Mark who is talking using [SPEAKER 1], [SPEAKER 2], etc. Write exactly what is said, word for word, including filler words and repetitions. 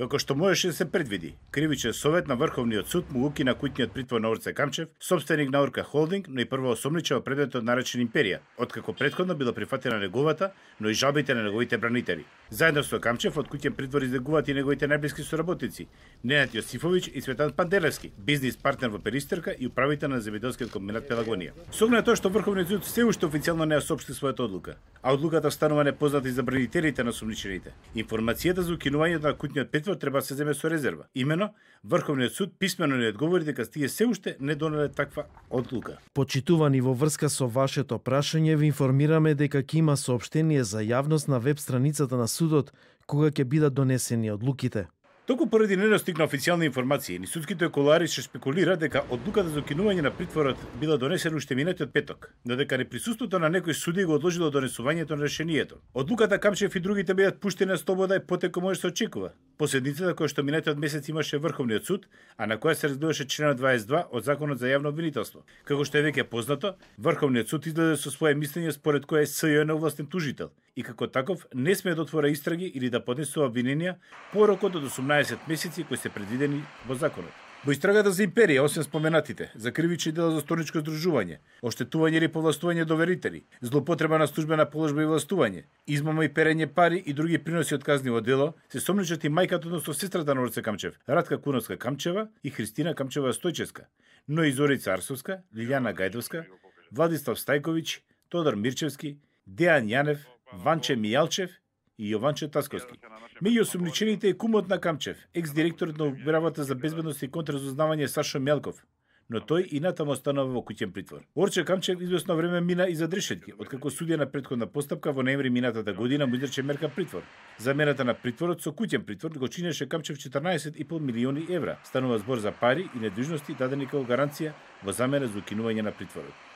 [SPEAKER 1] Како што можеше да се предвиди, кривичен совет на Врховниот суд му укина куќниот притвор на Орце Камчев, собственик на Орка Холдинг, но и прво осомничава предметот наречен Империја, откако претходно била прифатена неговата, но и жалбите на неговите бранители. Заедно со Камчев од куќен притвор излегуваат и неговите најблиски соработници, Ненад Јосифовиќ и Цветан Панделевски, бизнис партнер во Перистерка и управител на земјоделскиот комбинат Пелагонија. Со оглед на тоа што Врховниот суд се уште официјално не ја соопшти својата одлука, а одлуката станува непозната и за бранителите на осомничените. Информацијата за укинувањето на куќниот притвор треба да се земе со резерва. Имено, Врховниот суд писмено ни одговори дека тие се уште не донеле таква одлука.
[SPEAKER 2] Почитувани, во врска со вашето прашање, ви информираме дека ќе има соопштение за јавност на веб страницата на судот кога ќе бидат донесени одлуките.
[SPEAKER 1] Току поради недостиг на официјални информации, ни судските колари ще спекулира дека одлуката за укинување на притворот била донесена уште минатиот петок, но дека неприсуството на некој суди го одложило донесувањето на решението. Одлуката Камчев и другите бидат пуштени на слобода и потеко може се очекува. Последницата која што минатиот месец имаше Врховниот суд, а на која се разгледаше членот дваесет и два од Законот за јавно обвинителство. Како што е веќе познато, Врховниот суд излезе со свое мислење според кое СЈ е неовластен тужител и како таков не сме да отвора истраги или да поднесува обвиненија порокот од осумнаесет месеци кои се предвидени во законот. Во истрагата за Империја, освен споменатите, за кривични дела за сторничко здружување, оштетување или повластување доверители, злоупотреба на службена положба и властување, измама и перење пари и други приноси од казниво дело, се сомничат и мајката, односно сестрата на Орце Камчев, Радка Куновска Камчева и Христина Камчева Стојчевска, но и Зорица Арсовска, Лилјана Гајдовска, Владислав Стајковиќ, Тодор Мирчевски, Дејан Јанев, Ванче Мијалчев и Јованче Тасковски. Меѓу осумничените е кумот на Камчев, екс-директорот на Управата за безбедност и контразузнавање Сашо Мјалков, но тој и натаму останува во куќен притвор. Орче Камчев извесно време мина и за решетки, откако судија на претходна постапка во ноември минатата година му изрече мерка притвор. Замената на притворот со куќен притвор го чинеше Камчев четрнаесет и пол милиони евра. Станува збор за пари и недвижности дадени како гаранција во замена за укинување на притворот.